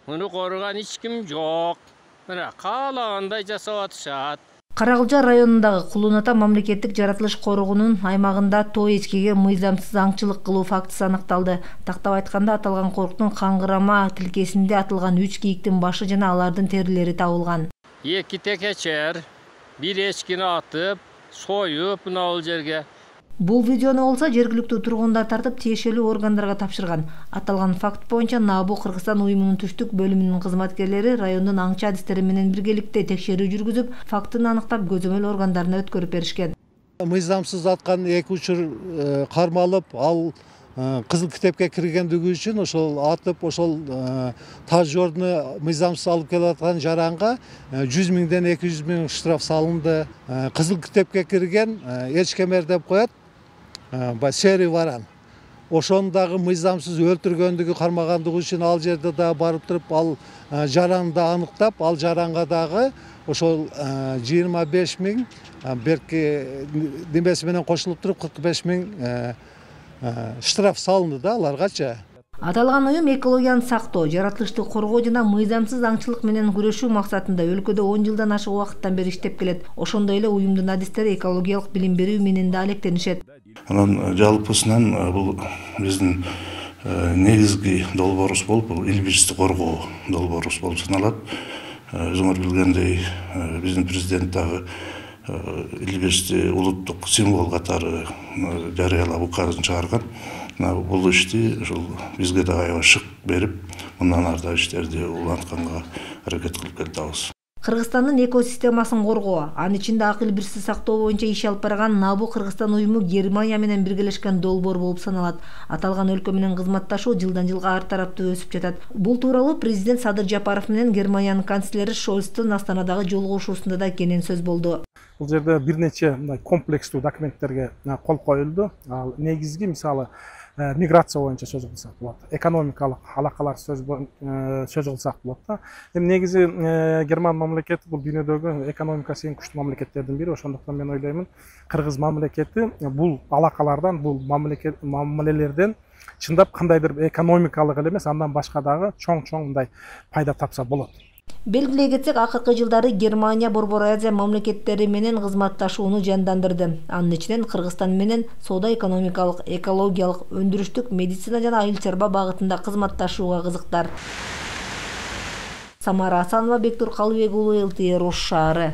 Муну корган эч ким жок. Мына каалагандай жасап атышат. Каракылжа районундагы Кулун Ата мамлекеттик жаратылыш коргоонунун аймагында тоо эчкиге мыйзамсыз аңчылык кылуу фактысы аныкталды. Тактап айтканда, аталган корктун каңгырама тилкесинде атылган 3 кийиктин башы жана алардын терилери табылган. 2 текечер, 1 эчкини атып, союп мына бул жерге. Бул видеону болсо жергиликтүү тургундар тартып тиешелүү органдарга тапшырган. Аталган факт боюнча НАБУ Кыргызстан уюмунун түштүк бөлүмүнүн кызматкерлери райондун аңчы адистери менен биргеликте текшерүү жүргүзүп, фактыны аныктап көзөмөл органдарына өткөрүп беришкен. Мыйзамсыз аткан 2 учур кармалып, ал кызыл китепке киргендиги үчүн ошол атып, ошол тажорду мыйзамсыз алып келаткан жаранга 100 миңден 200 миң штраф салынды. Кызыл китепке кирген эчкемер деп коет. Серий варан. Ошону дагы мыйзамсыз өлтүргөндүгү кармагандыгы үчүн ал жерде да барып туруп, ал жаранды да аныктап, ал жаранга дагы ошол 25 миң берки немеси менен кошулуп туруп 45 миң штраф салынды да аларгачы. Аталган уюм экологияны сактоо, жаратылышты коргоо жана мыйзамсыз аңчылык менен күрөшүү максатында өлкөдө 10 жылдан ашык убакыттан бери иштеп келет. Ошондой эле уюмдун адистери экологиялык билим берүү менен да алектенишет. Анан жалпысынан бул биздин негизги долбоорубуз болуп, бул илбирсти коргоо долбоорубуз болуп саналат. Өзүңөр билгендей, биздин президент дагы илбирсти улуттук символ катары жарыялап указын чыгарган. Бул ишти ушул бизге да аябай шык берип, мындан ары да иштерди улантканга аракет кылып келатабыз. Кыргызстандын экосистемасын коргоо, анын ичинде акыл бирси сактоо боюнча иш алып барган НАБУ Кыргызстан уюму Германия менен биргелешкен долбоор болуп саналат. Аталган өлкө менен кызматташуу жылдан жылга ар тараптуу өсүп жатат. Бул тууралуу президент Садыр Жапаров менен Германиянын канцлери Шольцтун Астанадагы жолугушуусунда да кенен сөз болду. Бул жерде бир нече комплекстүү документтерге кол коюлду. Ал негизги мисалы миграция боюнча сөз кылсак болот, экономикалык алакалар сөз кылсак болот да. Эми негизи Герман мамлекети бул дүйнөдөгү экономикасы эң күчтүү мамлекеттердин бири. Ошондуктан мен ойлоймун, Кыргыз мамлекети бул алакалардан, бул мамилелерден чындап кандайдыр экономикалык эле эмес, андан башка дагы чоң мындай пайда тапса болот. Белгилей кетсек, акыркы жылдары Германия Борбор Азия мамлекеттери менен кызматташууну жандандырды. Анын ичинен Кыргызстан менен соода-экономикалык, экологиялык, өндүрүштүк, медицина жана айыл чарба багытында кызматташууга кызыктар. Самара Асанова, Бектур Калыбек уулу, ЛТР Ош шаары.